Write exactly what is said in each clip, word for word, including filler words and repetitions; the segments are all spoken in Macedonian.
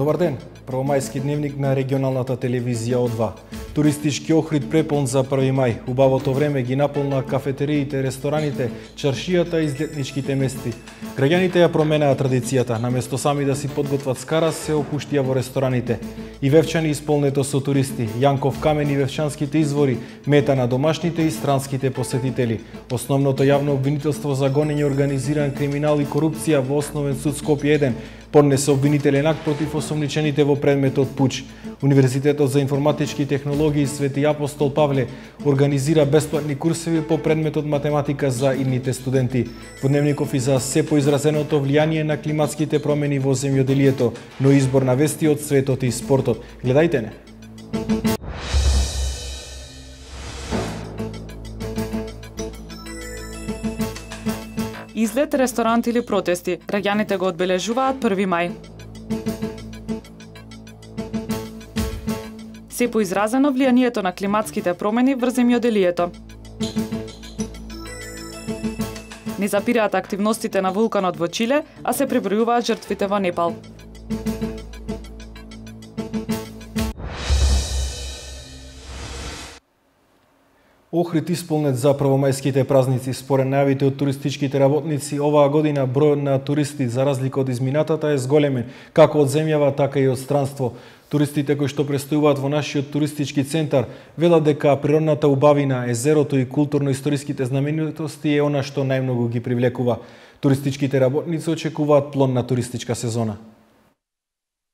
Добар ден, првомајски дневник на регионалната телевизија О два. Туристички Охрид препон за први мај. Убавото време ги наполна кафетериите, рестораните, чаршијата и излетничките мести. Граѓаните ја променаа традицијата, наместо сами да си подготват скара, се опуштија во рестораните. И Вевчани исполнето со туристи, Јанков камен и Вевчанските извори, мета на домашните и странските посетители. Основното јавно обвинителство за гонење организиран криминал и корупција во Основен суд Скопје еден поднесе обвинителен акт против осомничените во предметот пуч. Универзитетот за информатички технологии Свети Апостол Павле организира бесплатни курсеви по предметот математика за идните студенти. Во дневников и за се поизразеното влијание на климатските промени во земјоделието, но избор на вести од светот и спортот. Гледајте не. Излет, ресторант или протести, граѓаните го одбележуваат први мај. Се поизразено влијанието на климатските промени врз земјоделието. Не запираат активностите на вулканот во Чиле, а се пребројуваат жртвите во Непал. Охрид исполнет за првомајските празници. Според најавите од туристичките работници, оваа година бројот на туристи за разлика од изминатата е зголемен, како од земјава, така и од странство. Туристите кои што престојуваат во нашиот туристички центар велат дека природната убавина, езерото и културно-историските знаменитости е она што најмногу ги привлекува. Туристичките работници очекуваат плодна туристичка сезона.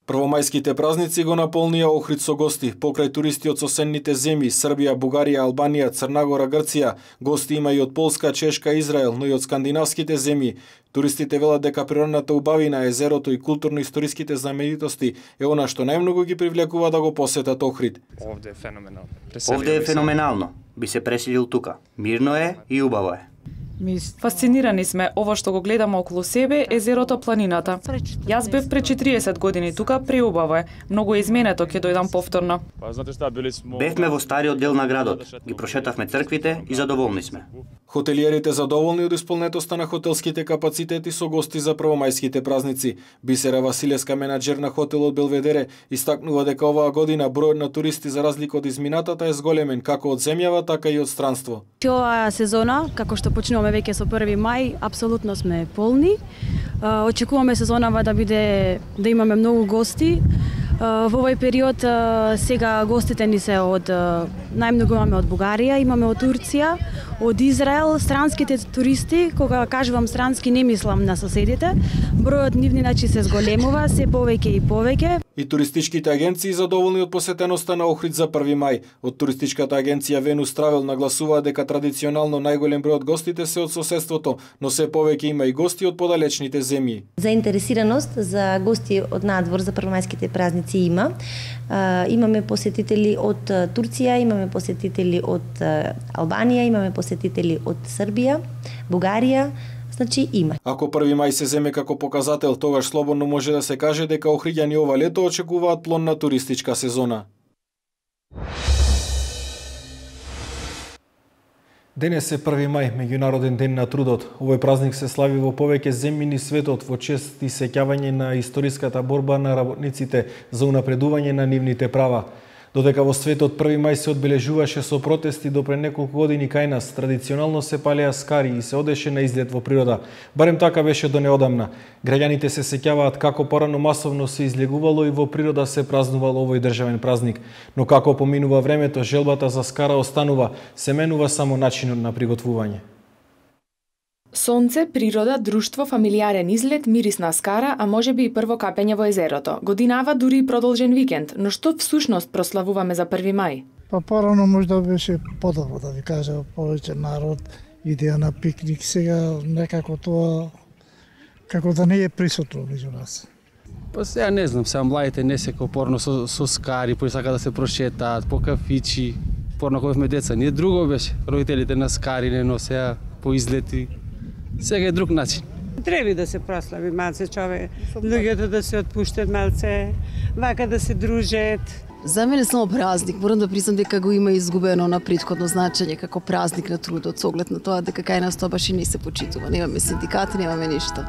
Првомајските празници го наполнија Охрид со гости. Покрај туристи од соседните земји Србија, Бугарија, Албанија, Црна Гора, Грција, гости има и од Полска, Чешка, Израел, но и од скандинавските земји. Туристите велат дека природната убавина, езерото и културно-историските знаменитости е она што најмногу ги привлекува да го посетат Охрид. Овде е феноменално. Овде е феноменално. Би се преселил тука. Мирно е и убаво е. Фасцинирани сме, ово што го гледаме околу себе, езерото, планината. Јас бев пред четириесет години тука, преубаво е. Многу е изменето, ќе дојдам повторно. Бевме во стариот дел на градот, ги прошетавме црквите и задоволни сме. Хотелиерите задоволни од исполнетоста на хотелските капацитети со гости за првомајските празници. Бисера Василевска, менаџер на хотелот Белведере, истакнува дека оваа година бројот на туристи за разлика од изминатата е зголемен како од земјава, така и од странство. Оваа сезона, како што почнуваме веќе со први мај, апсолутно сме полни. Очекуваме сезонава да биде да имаме многу гости. Во овој период сега гостите ни се од најмногу имаме од Бугарија, имаме од Турција, од Израел, странските туристи, кога кажувам странски не мислам на соседите, бројот нивни значи се зголемува, се повеќе и повеќе. И туристичките агенции задоволни од посетеноста на Охрид за први мај. Од туристичката агенција Venus Travel нагласува дека традиционално најголем број од гостите се од соседството, но се повеќе има и гости од подалечните земји. Заинтересираност за гости од надвор за првомајските празници има. Имаме посетители од Турција, имаме посетители од Албанија, имаме посетители од Србија, Бугарија. Значи има. Ако први мај се земе како показател, тогаш слободно може да се каже дека охриѓани ова лето очекуваат плодна туристичка сезона. Денес е први мај, меѓународен ден на трудот. Овој празник се слави во повеќе земји низ светот во чест и сеќавање на историската борба на работниците за унапредување на нивните права. Додека во светот први мај се одбележуваше со протести до пред неколку години кај нас, традиционално се палеа скари и се одеше на излет во природа. Барем така беше до неодамна. Граѓаните се сеќаваат како порано масовно се излегувало и во природа се празнувал овој државен празник. Но како поминува времето, желбата за скара останува, се менува само начинот на приготвување. Сонце, природа, друштво, фамилиарен излет, мирис на скара, а можеби и прво капење во езерото. Годинава дури и продолжен викенд, но што всушност прославуваме за први мај? Па порано можда беше подобро, да ви кажа, повеќе народ, идеја на пикник, сега некако тоа како да не е присутно меѓу нас. Па сега не знам, сега младите не се порно со, со скари, поисака да се прошетаат, по кафичи, порно кога бевме деца, ние друго беше, родителите на скари не носеа по излети. Сега е друг начин. Треба да се прослави малце човек, луѓето да се отпуштат малце, вака да се дружат. За мене само празник, морам да признам дека го има изгубено на претходно значење како празник на трудот, со оглед на тоа дека кај нас тоа баш и не се почитува. Немаме синдикати, немаме ништо.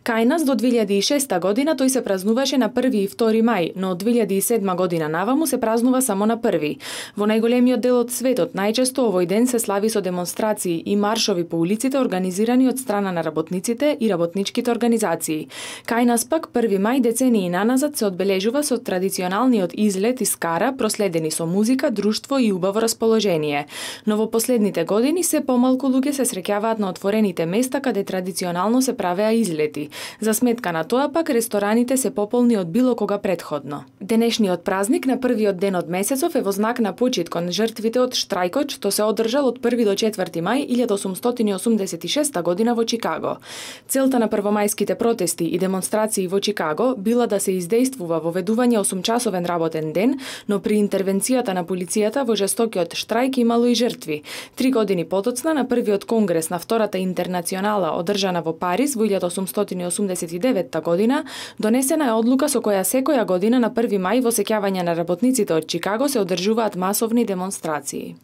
Кај нас до две илјади и шеста година тој се празнуваше на први и втори мај, но од две илјади и седма година наваму се празнува само на први. Во најголемиот дел од светот најчесто овој ден се слави со демонстрации и маршови по улиците организирани од страна на работниците и работничките организации. Кај нас пак први мај децении наназад се одбележува со традиционалниот излет и скара, проследени со музика, друштво и убаво расположение. Но во последните години се помалку луѓе се среќаваат на отворените места каде традиционално се правеа излети. За сметка на тоа пак рестораните се пополни од било кога претходно. Денешниот празник на првиот ден од месецов е во знак на почит кон жртвите од штрајкот што се одржал од први до четврти мај илјада осумстотини осумдесет и шеста година во Чикаго. Целта на првомајските протести и демонстрации во Чикаго била да се издействува воведување осумчасовен работен ден, но при интервенцијата на полицијата во жестокиот штрајк имало и жртви. Три години потоцна на првиот конгрес на Втората интернационала одржана во Париз во илјада осумстотини осумдесет и деветта година, донесена е одлука со која секоја година на први мај во сеќавање на работниците од Чикаго се одржуваат масовни демонстрации.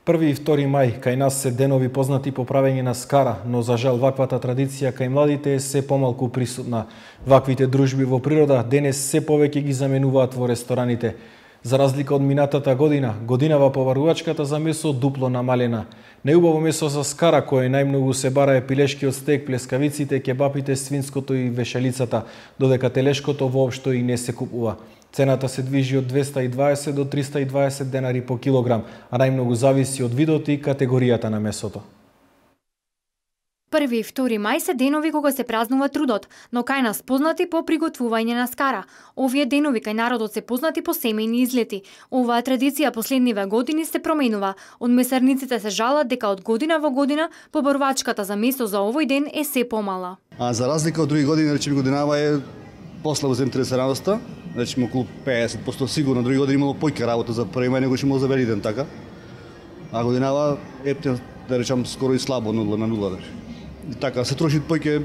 Први и втори мај кај нас се денови познати по правење на скара, но за жал ваквата традиција кај младите е се помалку присутна. Ваквите дружби во природа денес се повеќе ги заменуваат во рестораните. За разлика од минатата година, годинава поварувачката за месо дупло намалена. Неубаво месо за скара кое најмногу се бара е пилешкиот стек, плескавиците, кебапите, свинското и вешалицата, додека телешкото воопшто и не се купува. Цената се движи од двеста и дваесет до триста и дваесет денари по килограм, а најмногу зависи од видот и категоријата на месото. Први и втори мај се денови кога се празнува трудот, но кај нас познати по приготвување на скара. Овие денови кај народот се познати по семејни излети. Оваа традиција последниве години се променува. Од месарниците се жалат дека од година во година побарувачката за месо за овој ден е се помала. А за разлика од други години, речеме годинава е послабо заинтересираноста, речеме околу пеесет проценти сигурно, други години имало појка работа за први мај, него што имало за Великден така. А годинава е да речам скоро и слабо нула на нула. Речем. И така се троши појќе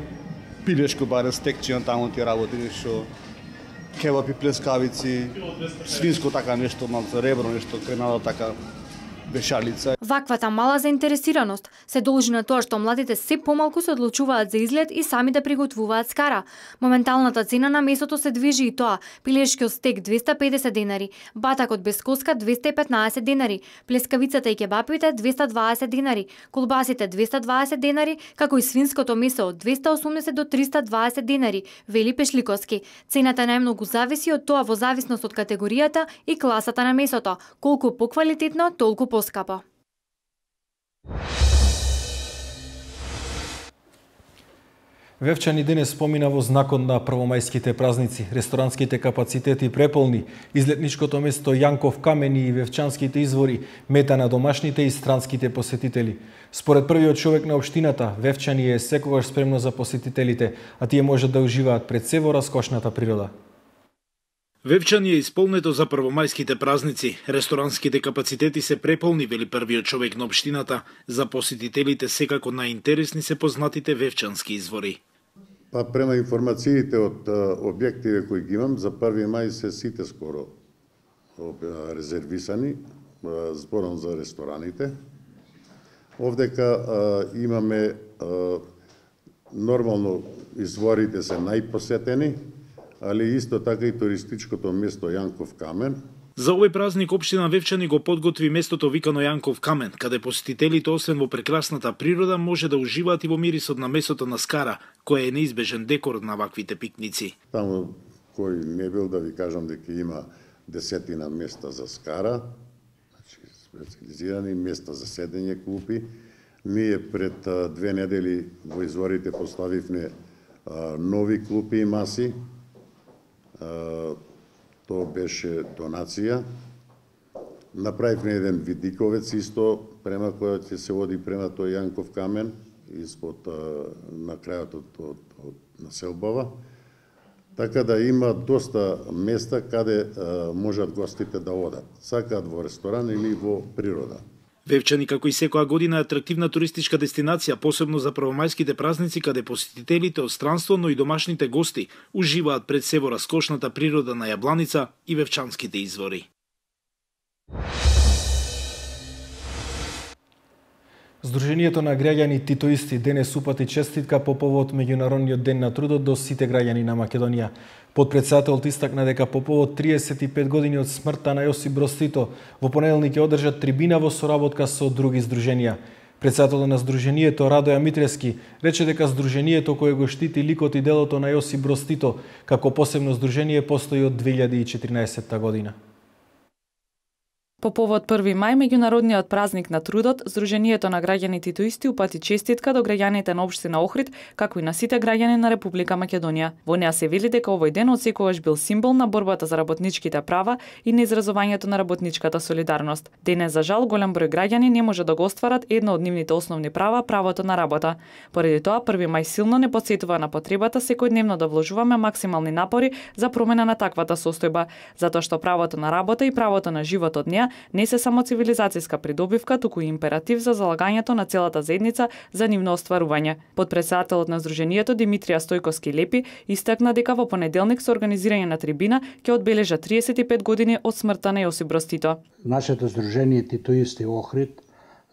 пилешко баре стекчина таму ти работи нешто кебапи, плескавици, свинско така нешто, малку ребро нешто, кренада така вешалица. Ваквата мала заинтересираност се должи на тоа што младите се помалку се одлучуваат за излет и сами да приготвуваат скара. Моменталната цена на месото се движи и тоа: пилешкиот стек двеста и педесет денари, батакот без коска двеста и петнаесет денари, плескавицата и кебапите двеста и дваесет денари, колбасите двеста и дваесет денари, како и свинското месо од двеста и осумдесет до триста и дваесет денари, вели Пешликовски. Цената најмногу зависи од тоа во зависност од категоријата и класата на месото, колку поквалитетно, толку поскапо. Вевчани денес помина во знакот на првомајските празници. Ресторанските капацитети преполни, излетничкото место Јанков камен и Вевчанските извори мета на домашните и странските посетители. Според првиот човек на општината, Вевчани е секогаш спремно за посетителите, а тие можат да уживаат пред се во раскошната природа. Вевчани е исполнето за првомајските празници. Ресторанските капацитети се преполни, вели првиот човек на општината. За посетителите секако најинтересни се познатите Вевчански извори. Па према информациите од објективе кои ги имам, за први мај се сите скоро резервисани, зборам за рестораните. Овдека имаме нормално изворите се најпосетени, али исто така и туристичкото место Јанков камен. За овој празник општина Вевчани го подготви местото викано Јанков камен, каде посетителите освен во прекрасната природа може да уживаат и во мирисот на месото на скара, кој е неизбежен декор на ваквите пикници. Таму кој не бил да ви кажам дека има десетина места за скара, значи специализирани места за седење, клупи. Ние пред две недели во изворите поставивме нови клупи и маси. Тоа беше донација. Направивме еден видиковец исто, према која ќе се води према тој Јанков камен, испод на крајот од, од, од населбава. Така да има доста места каде можат гостите да одат, сакаат во ресторан или во природа. Вевчани, како и секоја година, е атрактивна туристичка дестинација, посебно за првомајските празници, каде посетителите од странство, но и домашните гости уживаат пред се во раскошната природа на Јабланица и Вевчанските извори. Здруженијето на граѓани титоисти денес упати честитка по повод Меѓународниот ден на трудот до сите граѓани на Македонија. Потпредседателот истакна дека по повод триесет и пет години од смртта на Јосип Броз Тито во понеделник ќе одржат трибина во соработка со други здруженија. Председателот на Здруженијето Радоја Митрески рече дека Здруженијето кое го штити ликот и делото на Јосип Броз Тито како посебно здружение постои од две илјади и четирнаесетта година. По повод први мај, меѓународниот празник на трудот, Здруженијето на граѓани титоисти упати честитка до граѓаните на општина Охрид, како и на сите граѓани на Република Македонија. Во неа се вели дека овој ден отсекогаш бил символ на борбата за работничките права и на изразувањето на работничката солидарност. Денес, за жал, голем број граѓани не може да го остварат едно од нивните основни права, правото на работа. Поради тоа, први мај силно не потсетува на потребата секојдневно да вложуваме максимални напори за промена на таквата состојба, затоа што правото на работа и правото на живот од неа не се само цивилизацијска придобивка, туку и императив за залагањето на целата заедница за нивно остварување. Потпредседателот на Здруженијето Димитрија Стојковски Лепи истакна дека во понеделник со организирање на трибина ќе одбележа триесет и пет години од смртта на Јосип Броз Тито. Нашето Здружение Титоисти Охрид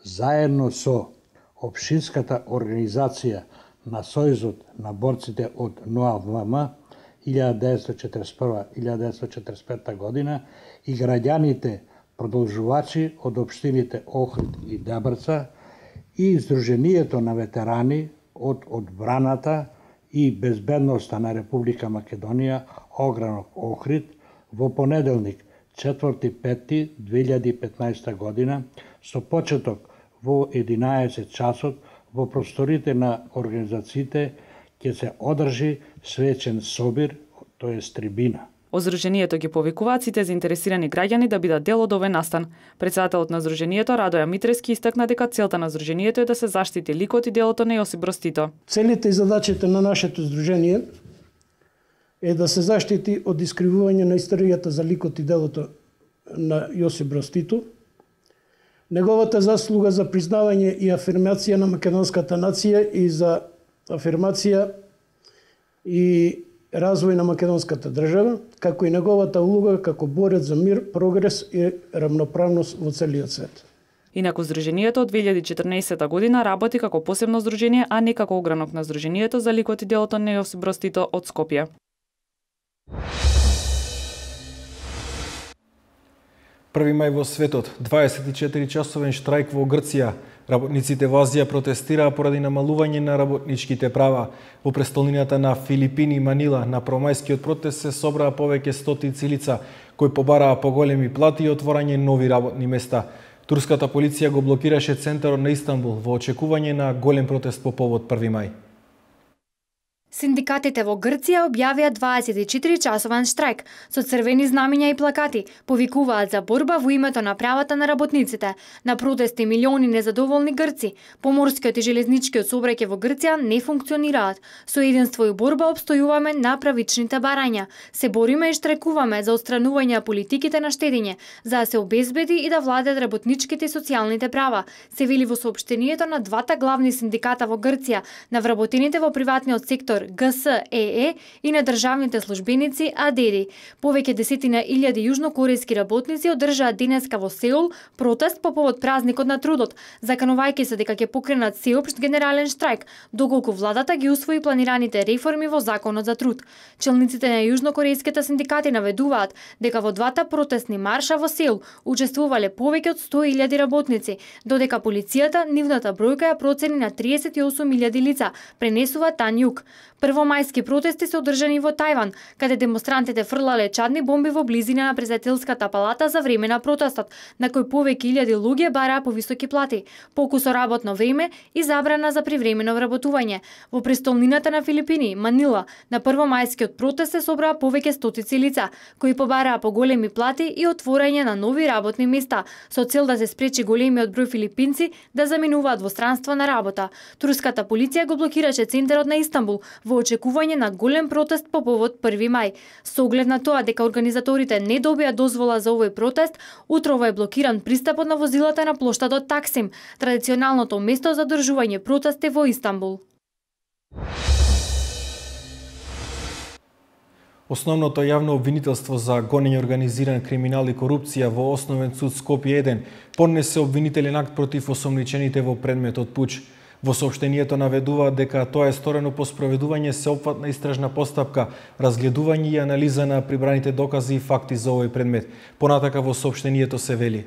заедно со општинската организација на Сојузот на борците од НОАВМ илјада деветстотини четиридесет и прва до илјада деветстотини четиридесет и пета година и граѓаните продолжувачи од општините Охрид и Дебрца и Здруженијето на ветерани од одбраната и безбедноста на Република Македонија огранок Охрид во понеделник четврти пети две илјади и петнаесетта година со почеток во единаесет часот во просторите на организациите ќе се одржи свечен собир, тоест трибина. Од Здруженијето ги повикуваат сите заинтересирани граѓани да бидат дел од овој настан. Председателот на Здруженијето Радоја Митрески истакна дека целта на Здруженијето е да се заштити ликот и делото на Јосип Броз Тито. Целите и задачите на нашето здружение е да се заштити од искривување на историјата за ликот и делото на Јосип Броз Тито, неговата заслуга за признавање и афирмација на македонската нација и за афирмација и развој на македонската држава, како и неговата улога како борец за мир, прогрес и рамноправност во целиот свет. Инаку Здруженијето од две илјади и четрнаесетта година работи како посебно здружение, а не како огранок на Здруженијето за ликот и делото на Јосип Броз Тито од Скопје. први мај во светот, дваесет и четири часовен штрајк во Грција. Работниците во Азија протестираа поради намалување на работничките права. Во престолнината на Филипини, Манила, на промајскиот протест се собраа повеќе стотици лица, кои побараа поголеми плати и отворање нови работни места. Турската полиција го блокираше центарот на Истанбул во очекување на голем протест по повод први мај. Синдикатите во Грција објавија дваесет и четири часовен штрајк со црвени знамиња и плакати, повикуваат за борба во името на правата на работниците. На протести милиони незадоволни грци. Поморскиот и железничкиот сообраќај во Грција не функционираат. Со единство и борба обстојуваме на правичните барања. Се бориме и штрекуваме за отстранување на политиките на штедење, за да се обезбеди и да владеат работничките и социјалните права, се вели во соопштението на двата главни синдиката во Грција, на вработените во приватниот сектор Г С Е Е и на државните службеници А Д Д. Повеќе десетина илјади јужнокорејски работници одржаат денеска во Сеул протест по повод празникот на трудот, заканувајќи се дека ќе покренат сеопшт генерален штрајк, доколку владата ги усвои планираните реформи во Законот за труд. Челниците на јужнокорејските синдикати наведуваат дека во двата протестни марша во Сеул учествувале повеќе од сто илјади работници, додека полицијата нивната бројка ја процени на триесет и осум илјади лица, пренесува Тан Јук. Првомајски протести се одржани во Тајван, каде демонстрантите фрлале чадни бомби во близина на претседателската палата за време на протестот, на кој повеќе илјади луѓе бараа повисоки плати, покусо работно време и забрана за привремено вработување. Во престолнината на Филипини, Манила, на првомајскиот протест се собраа повеќе стотици лица, кои побараа поголеми плати и отворање на нови работни места, со цел да се спречи големиот број филипинци да заминуваат во странство на работа. Турската полиција го блокираше центарот на Истанбул во очекување на голем протест по повод први мај. Со оглед на тоа дека организаторите не добија дозвола за овој протест, утрово е блокиран пристапот на возилата на плоштадот Таксим, традиционалното место за одржување протести во Истанбул. Основното јавно обвинителство за гонење организиран криминал и корупција во Основен суд Скопје еден поднесе обвинителен акт против осомничените во предметот пуч. Во соопштението наведува дека тоа е сторено по спроведување сеопфатна истражна постапка, разгледување и анализа на прибраните докази и факти за овој предмет. Понатака во соопштението се вели: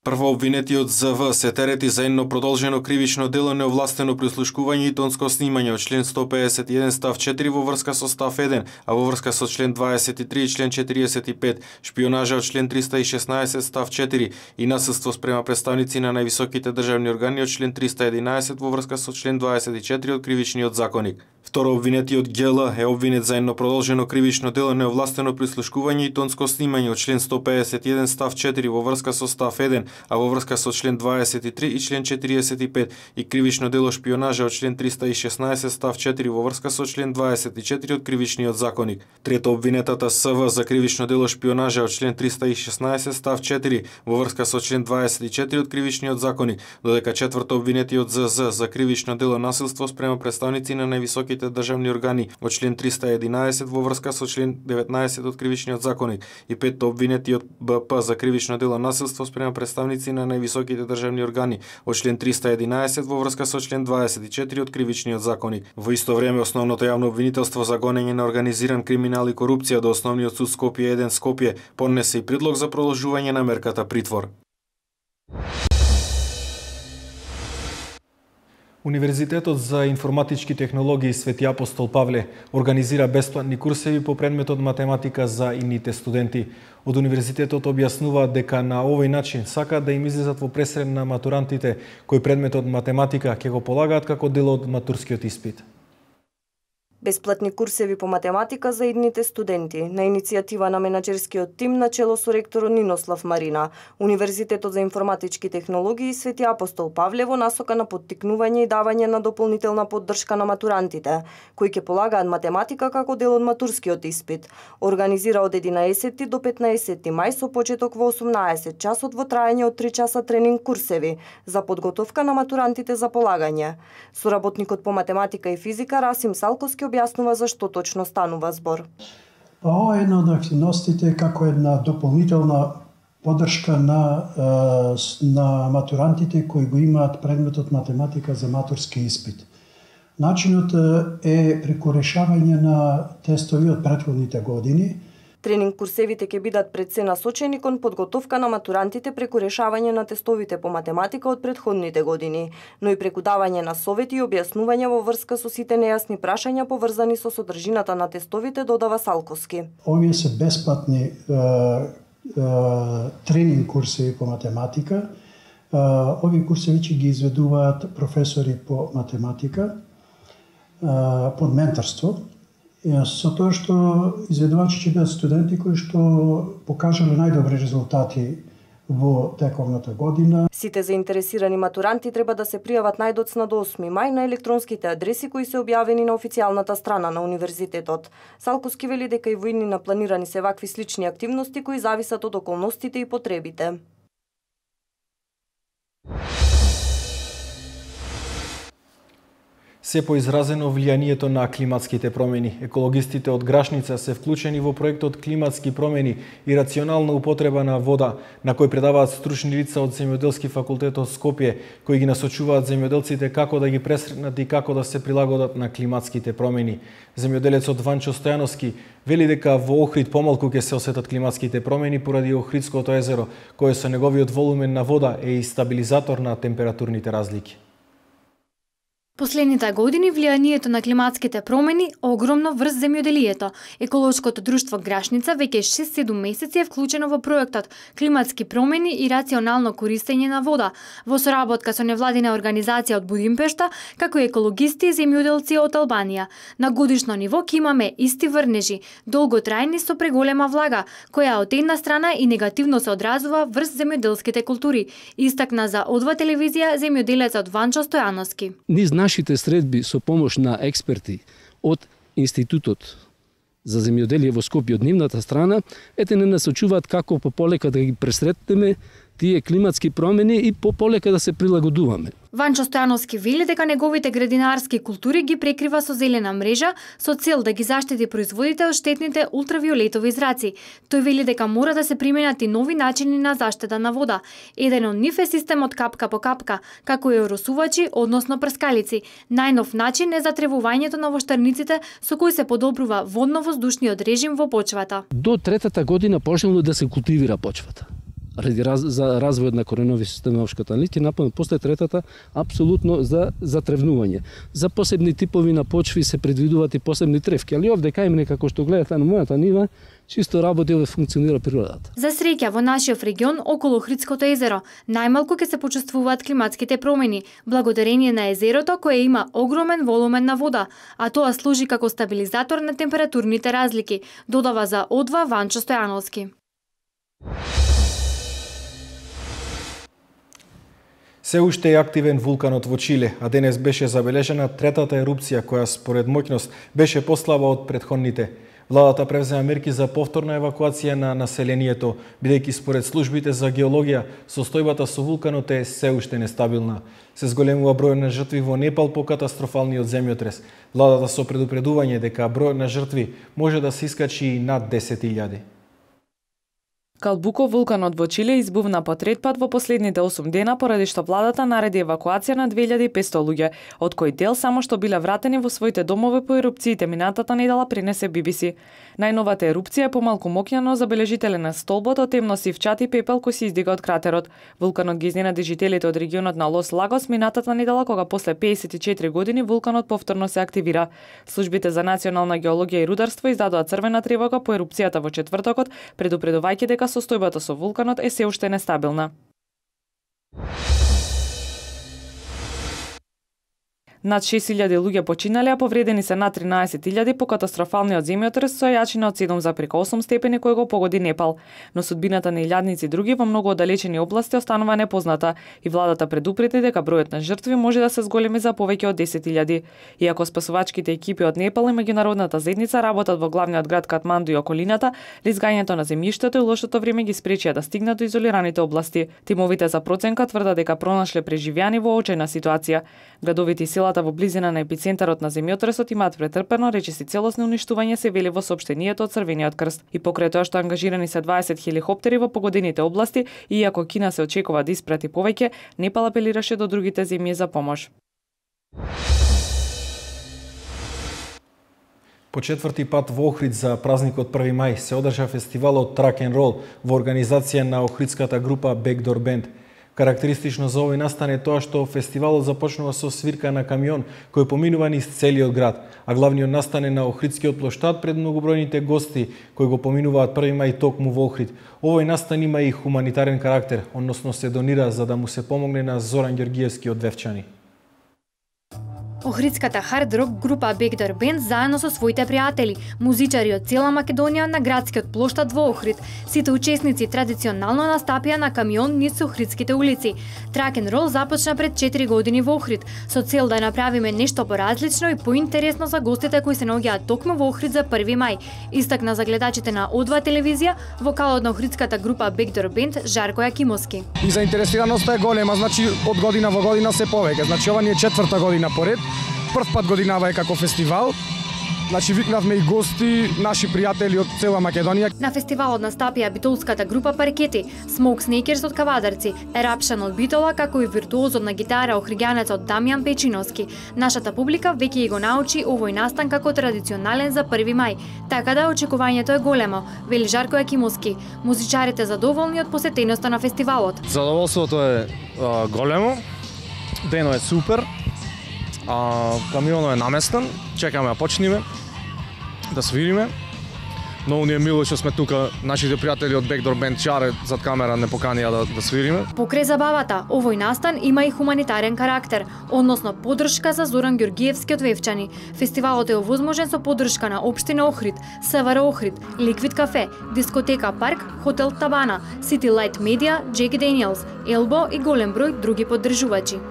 Прво обвинетиот З В се терети за едно продолжено кривично дело неовластено прислушкување и тонско снимање од член сто педесет и еден став четири во врска со став еден, а во врска со член дваесет и три и член четириесет и пет, шпионажа од член триста и шеснаесет став четири и насилство спрема представници на највисоките државни органи од член триста и единаесет во врска со член дваесет и четири од Кривичниот законник. Второ обвинетиот Г Л е обвинет за едно продолжено кривично дело неовластено прислушкување и тонско снимање од член сто педесет и еден став четири во врска со став еден, а во врска со член дваесет и три и член четириесет и пет и кривично дело шпионажа од член триста и шеснаесет став четири во врска со член дваесет и четири од Кривичниот законник. Трето обвинетата С В за кривично дело шпионажа од член триста и шеснаесет став четири во врска со член дваесет и четири од Кривичниот законник, додека четврто обвинетиот З З за кривично дело насилство спрема представници на највисоките државни органи од член триста и единаесет во врска со член деветнаесет од Кривичниот законник и петто обвинетиот Б П за кривично дело насилство спрема представници на највисоките државни органи од член триста и единаесет во врска со член дваесет и четири од Кривичниот законник. Во исто време основното јавно обвинителство за гонење на организиран криминал и корупција до Основниот суд Скопје еден Скопје поднесе и предлог за продолжување на мерката притвор. Универзитетот за информатички технологии Свети Апостол Павле организира бесплатни курсеви по предметот математика за ините студенти. Од универзитетот објаснуваат дека на овој начин сакаат да им излезат во пресред на матурантите кои предметот математика ќе го полагаат како дел од матурскиот испит. Бесплатни курсеви по математика за идните студенти на иницијатива на менаџерскиот тим на чело со ректорот Нинослав Марина. Универзитетот за информатички технологии Свети Апостол Павле во насока на поттикнување и давање на дополнителна поддршка на матурантите, кои ќе полагаат математика како дел од матурскиот испит. Организира од единаесети до петнаесети мај со почеток во осумнаесет часот во траење од три часа тренинг курсеви за подготовка на матурантите за полагање. Соработникот по математика и физика Расим Салковски објаснува зашто точно станува збор. Ова е една од активностите како една дополнителна поддршка на, на матурантите кои го имаат предметот математика за матурски испит. Начинот е преку решавање на тестови од претходните години. Тренинг курсевите ќе бидат пред се насочени кон подготовка на матурантите преку решавање на тестовите по математика од претходните години, но и преку давање на совети и објаснување во врска со сите нејасни прашања поврзани со содржината на тестовите, додава Салковски. Овие се бесплатни е, е, тренинг курсеви по математика. Е, овие курсеви ќе ги изведуваат професори по математика е, под менторство. Со тоа што изведувачи ќе бидат студенти кои што покажале најдобри резултати во тековната година. Сите заинтересирани матуранти треба да се пријават најдоцна до осми мај на електронските адреси кои се објавени на официјалната страна на универзитетот. Салковски вели дека и во иднина планирани се вакви слични активности кои зависат од околностите и потребите. Се поизразено влијанието на климатските промени. Екологистите од Грашница се вклучени во проектот Климатски промени и рационална употреба на вода, на кој предаваат стручни лица од Земјоделски факултет од Скопје, кои ги насочуваат земјоделците како да ги пресретнат и како да се прилагодат на климатските промени. Земјоделецот Ванчо Стојановски вели дека во Охрид помалку ќе се осетат климатските промени поради Охридското езеро, кое со неговиот волумен на вода е и стабилизатор на температурните разлики. Последните години влијанието на климатските промени огромно врз земјоделието. Еколошкото друштво Грашница веќе шест-седум месеци е вклучено во проектот Климатски промени и рационално користење на вода, во соработка со невладина организација од Будимпешта, како и екологисти и земјоделци од Албанија. На годишно ниво ќе имаме исти врнежи, долготрајни со преголема влага, која од една страна и негативно се одразува врз земјоделските култури, истакна за Одва телевизија земјоделецот Ванчо Стојановски. Нашите средби со помош на експерти од Институтот за земјоделие во Скопје од нивната страна, ете не насочуваат како пополека да ги пресретнеме тие климатски промени и по полека да се прилагодуваме. Ванчо Стојановски вели дека неговите градинарски култури ги прекрива со зелена мрежа со цел да ги заштити производите од штетните ултравиолетови зраци. Тој вели дека мора да се применат и нови начини на заштита на вода. Еден од нив е системот капка по капка, како и оросувачи, односно прскалици. Најнов начин е затревувањето на воштарниците со кој се подобрува водно-воздушниот режим во почвата. До третата година почнало да се култивира почвата. Ради раз, за развојот на коренови системи опшката нит и напомнам после третата апсолутно за затревнување. За посебни типови на почви се предвидуваат и посебни тревки, али овде кај мене како што гледате на мојата нива, чисто работи овде функционира природата. За среќа во нашиот регион околу Охридското езеро најмалку ќе се почувствуваат климатските промени, благодарение на езерото кое има огромен волумен на вода, а тоа служи како стабилизатор на температурните разлики, додава за О два Ванчо Стојановски. Се уште е активен вулканот во Чиле, а денес беше забележена третата ерупција која според моќност беше послаба од претходните. Владата превзема мерки за повторна евакуација на населението, бидејќи според службите за геологија состојбата со вулканот е се уште нестабилна. Се зголемува број на жртви во Непал по катастрофалниот земјотрес. Владата со предупредување дека бројот на жртви може да се искачи и над десет илјади. Калбуко, вулканот во Чиле, избувна по трет пат во последните осум дена, поради што владата нареди евакуација на две илјади и петсто луѓе, од кои дел само што биле вратени во своите домови по ерупциите минатата недела, пренесе Би Би Си. Најновата ерупција е помалку моќна, но забележителен е столбот од темно сив чат и пепел кој се издига од кратерот. Вулканот ги изненади жителите од регионот на Лос Лагос минатата недела, кога после пеесет и четири години вулканот повторно се активира. Службите за национална геологија и рударство издадоа црвена тревога по ерупцијата во четвртокот, предупредувајќи дека состојбата со вулканот е се уште нестабилна. Над шест илјади луѓе починале, а повредени се над тринаесет илјади по катастрофалниот земјотрес со јачина од седум зарез осум степени кој го погоди Непал. Но судбината на илјадници други во многу оддалечени области останува непозната и владата предупреди дека бројот на жртви може да се зголеми за повеќе од десет илјади. Иако спасувачките екипи од Непал и меѓународната заедница работат во главниот град Катманду и околината, лизгањето на земјиштето и лошото време ги спречија да стигнат до изолираните области. Тимовите за проценка тврдат дека пронашле преживеани во очајна ситуација. Градовите и селата во близина на епицентарот на земјотресот имаат претрпено речиси целосно уништување, се вели во соопштението од Црвениот крст. И покрај тоа што ангажирани се дваесет хеликоптери во погодените области, и иако Кина се очекува да испрати повеќе, Непал апелираше до другите земји за помош. По четврти пат во Охрид за празникот први мај се одржа фестивалот Track and Roll во организација на охридската група Backdoor Band. Карактеристично за овој настан е тоа што фестивалот започнува со свирка на камион кој поминува низ целиот град, а главниот настан е на Охридскиот плоштад пред многобројните гости кои го поминуваат први мај токму во Охрид. Овој настан има и хуманитарен карактер, односно се донира за да му се помогне на Зоран Ѓоргиевски од Девчани. Охридската хард рок група Backdoor Band заедно со своите пријатели, музичари од цела Македонија на градскиот плоштад во Охрид. Сите учесници традиционално настапија на камион низ Охридските улици. Track and Roll започна пред четири години во Охрид, со цел да направиме нешто поразлично и поинтересно за гостите кои се наоѓаат токму во Охрид за први мај, истакна за гледачите на О два телевизија, вокалот на охридската група Backdoor Band Жарко Јакимовски. И заинтересираноста е голема, значи од година во година се повеќе. Значи ова ни е четврта година поред. Прв пат годинава е како фестивал. Значи викнавме и гости, наши пријатели од цела Македонија. На фестивалот настапија битолската група Паркети, Smoke Snakers од Кавадарци, Ерапшан од Битола, како и виртуозот на гитара охриѓанецот Дамјан Печиновски. Нашата публика веќе го научи овој настан како традиционален за први мај, така да очекувањето е големо, вели Жарко Јакимовски. Музичарите задоволни од посетеноста на фестивалот. Задоволството е а, големо, дено е супер. А, камионот е наместен, чекаме да почнеме, да свириме. Многу ни е мило што сме тука, нашите пријатели од Backdoor Band чаре зад камера не поканија да, да свириме. Покрај забавата, овој настан има и хуманитарен карактер, односно поддршка за Зоран Ѓоргиевски од Вевчани. Фестивалот е овозможен со поддршка на Општина Охрид, СВР Охрид, Ликвид кафе, Дискотека Парк, Хотел Табана, City Light Media, Джеки Daniels, Елбо и голем број други поддржувачи.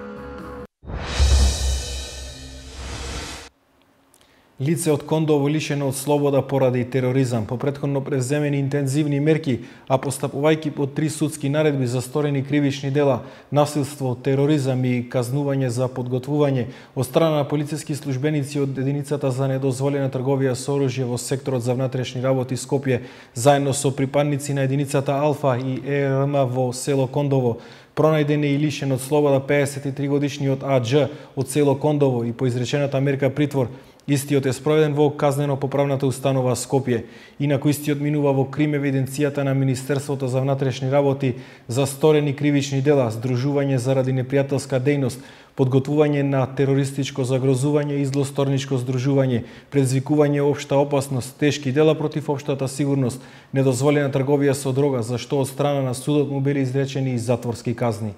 Лице од Кондово лишено од слобода поради тероризам. По претходно превземени интензивни мерки, а постапувајќи по три судски наредби за сторени кривични дела, насилство, тероризам и казнување за подготвување од страна на полициски службеници од единицата за недозволена трговија со оружје во секторот за внатрешни работи Скопје, заедно со припадници на единицата Алфа и Е Р М во село Кондово, пронајден е и лишен од слобода пеесет и три годишниот А Дж од село Кондово и по изречената мерка притвор. Истиот е спроведен во казнено-поправната установа Скопје. Инаку истиот минува во крим евиденцијата на Министерството за внатрешни работи за сторени кривични дела, здружување заради непријателска дејност, подготвување на терористичко загрозување и злосторничко здружување, предизвикување општа опасност, тешки дела против општата сигурност, недозволена трговија со дрога, за што од страна на судот му били изречени и затворски казни.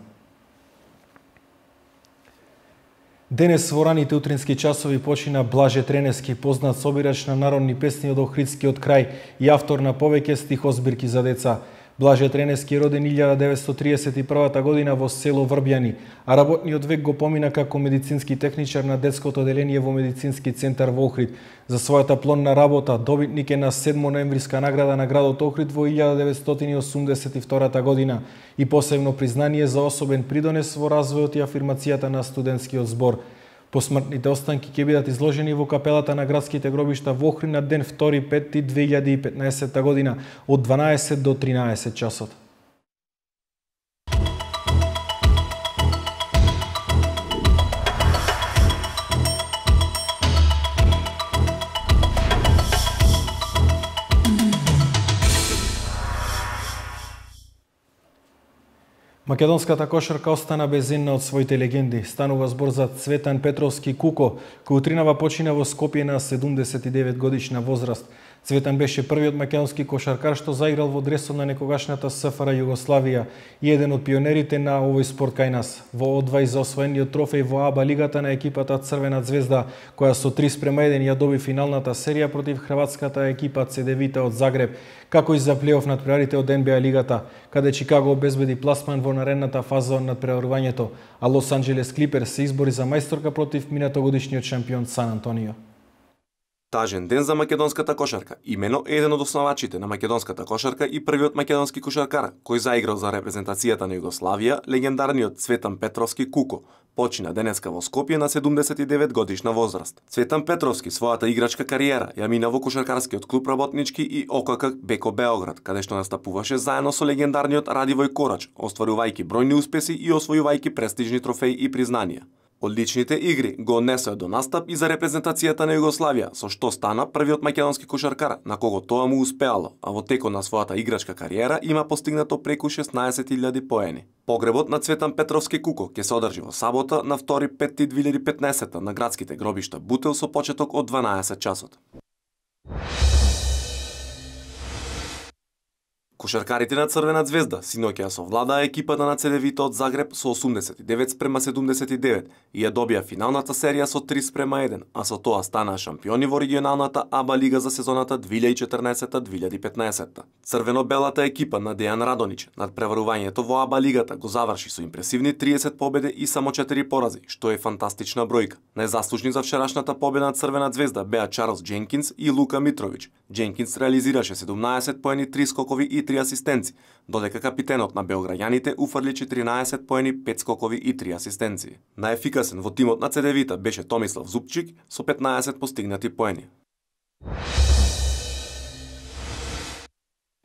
Денес во раните утрински часови почина Блаже Тренески, познат собирач на народни песни од Охридскиот крај и автор на повеќе стихозбирки за деца. Блаже Тренески е роден илјада деветстотини триесет и прва година во село Врбјани, а работниот век го помина како медицински техничар на детското оделение во медицински центар во Охрид. За својата плодна работа добитник е на седма ноемвриска награда на градот Охрид во илјада деветстотини осумдесет и втора година и посебно признание за особен придонес во развојот и афирмацијата на студентскиот збор. Посмртните останки ќе бидат изложени во капелата на градските гробишта во Охрид на ден втори пети две илјади и петнаесетта година од дванаесет до тринаесет часот. Македонската кошарка остана без една од своите легенди. Станува збор за Цветан Петровски Куко, кој утринава почина во Скопје на седумдесет и девет годишна возраст. Цветан беше првиот македонски кошаркар што заиграл во дресот на некогашната С Ф Р Југославија и еден од пионерите на овој спорт кај нас. Во одвај за освоениот трофеј во А Б А лигата на екипата Црвена звезда, која со три спрема еден ја доби финалната серија против хрватската екипа Ц Д Вита од Загреб, како и за плейоф надпреварите од Н Б А лигата, каде Чикаго обезбеди пласман во наредната фаза од надпреварувањето, а Лос Анџелес Клиперс се избори за мајсторка против минатогодишниот шампион Сан Антонио. Тажен ден за македонската кошарка. Имено еден од основачите на македонската кошарка и првиот македонски кошаркар кој заиграл за репрезентацијата на Југославија, легендарниот Цветан Петровски Куко, почина денеска во Скопје на седумдесет и девет годишна возраст. Цветан Петровски својата играчка кариера ја мина во кошаркарскиот клуб Работнички и О К К Беко Београд, каде што настапуваше заедно со легендарниот Радивој Корач, остварувајќи бројни успеси и освојувајќи престижни трофеи и признанија. Одличните игри го однесоа до настап и за репрезентацијата на Југославија, со што стана првиот македонски кошаркар на кого тоа му успеало, а во текот на својата играчка кариера има постигнато преку шеснаесет илјади поени. Погребот на Цветан Петровски Куко ќе се одржи во сабота на втори пети две илјади и петнаесетта на градските гробишта Бутел со почеток од дванаесет часот. Кошаркарите на Црвена звезда синоќа ја совладаа екипата на Ц Д Вита од Загреб со осумдесет и девет спрема седумдесет и девет и ја добија финалната серија со три спрема еден, а со тоа станаа шампиони во регионалната А Б А лига за сезоната две илјади и четрнаесетта две илјади и петнаесетта. Црвено-белата екипа на Дејан Радонич над преварувањето во А Б А лигата го заврши со импресивни триесет победи и само четири порази, што е фантастична бројка. Најзаслужни за вчерашната победа на Црвена звезда беа Чарлс Дженкинс и Лука Митрович. Дженкинс реализираше седумнаесет поени, три скокови и три асистенци, додека капитенот на белграѓаните уфрли четиринаесет поени, пет скокови и три асистенции. Најефикасен во тимот на Ц Д Вита беше Томислав Зупчик со петнаесет постигнати поени.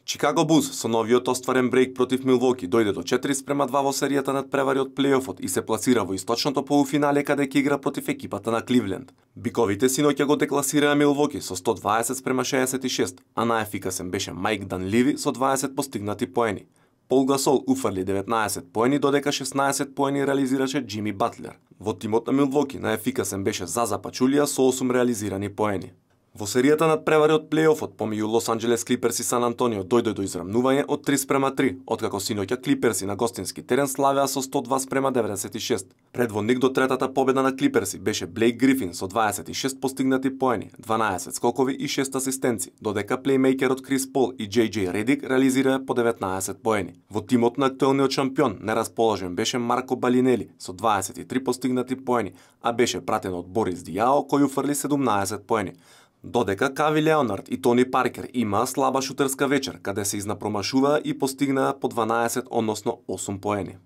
Чикаго Булс со новиот остварен брејк против Милвоки дојде до четири спрема два во серијата над превари од плейофот и се пласира во источното полуфинале каде ќе игра против екипата на Кливленд. Биковите синоќа го декласираа Милвоки со сто дваесет спрема шеесет и шест, а најефикасен беше Мајк Данливи со дваесет постигнати поени. Пол Гасол уфрли деветнаесет поени, додека шеснаесет поени реализираше Џими Батлер. Во тимот на Милвоки најефикасен беше Заза Пачулија со осум реализирани поени. Во серијата над превари од плейофот помеѓу Лос Анџелес Клиперс и Сан Антонио дојде до израмнување од три спрема три, откако синоќа Клиперси на гостински терен славеа со сто два спрема деветдесет и шест. Предводник до третата победа на Клиперси беше Блейк Грифин со дваесет и шест постигнати поени, дванаесет скокови и шест асистенци, додека плеймејкерот Крис Пол и Джей Джей Редик реализираа по деветнаесет поени. Во тимот на актуелниот шампион нерасположен беше Марко Балинели со дваесет и три постигнати поени, а беше пратен од Борис Дијао кој уфрли седумнаесет поени. Додека Кави Леонард и Тони Паркер имаа слаба шутерска вечер, каде се изнапромашуваа и постигнаа по дванаесет, односно осум поени.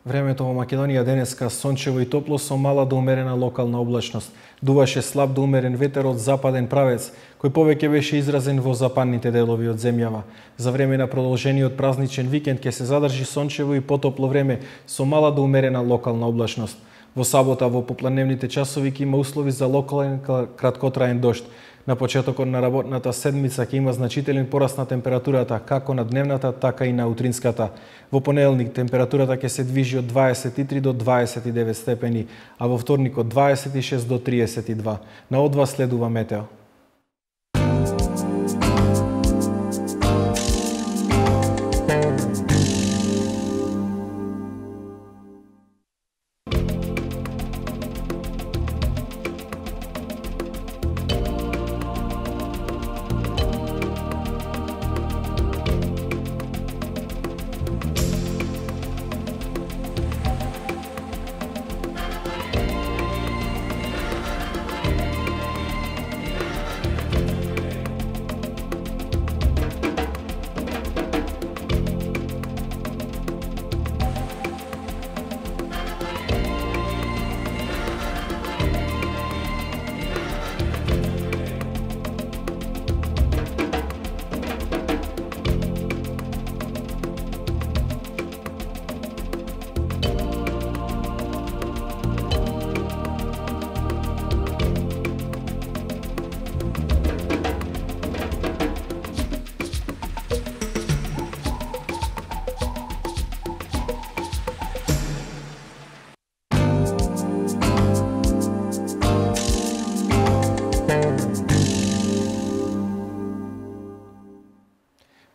Времето во Македонија денеска сончево и топло со мала до умерена локална облачност. Дуваше слаб до умерен ветер од западен правец, кој повеќе беше изразен во западните делови од земјава. За време на продолжениот празничен викенд ќе се задржи сончево и потопло време со мала до умерена локална облачност. Во сабота во попладневните часови ќе има услови за локален краткотраен дожд. На почетокот на работната седмица ќе има значителен пораст на температурата како на дневната, така и на утринската. Во понеделник температурата ќе се движи од дваесет и три до дваесет и девет степени, а во вторник од дваесет и шест до триесет и два. На од вас следува метео.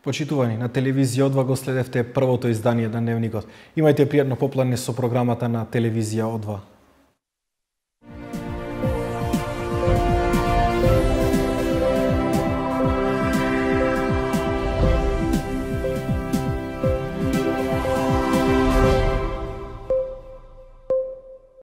Почитувани, на телевизија О два го следевте првото издание на Дневникот. Имајте пријатно попладне со програмата на телевизија О два.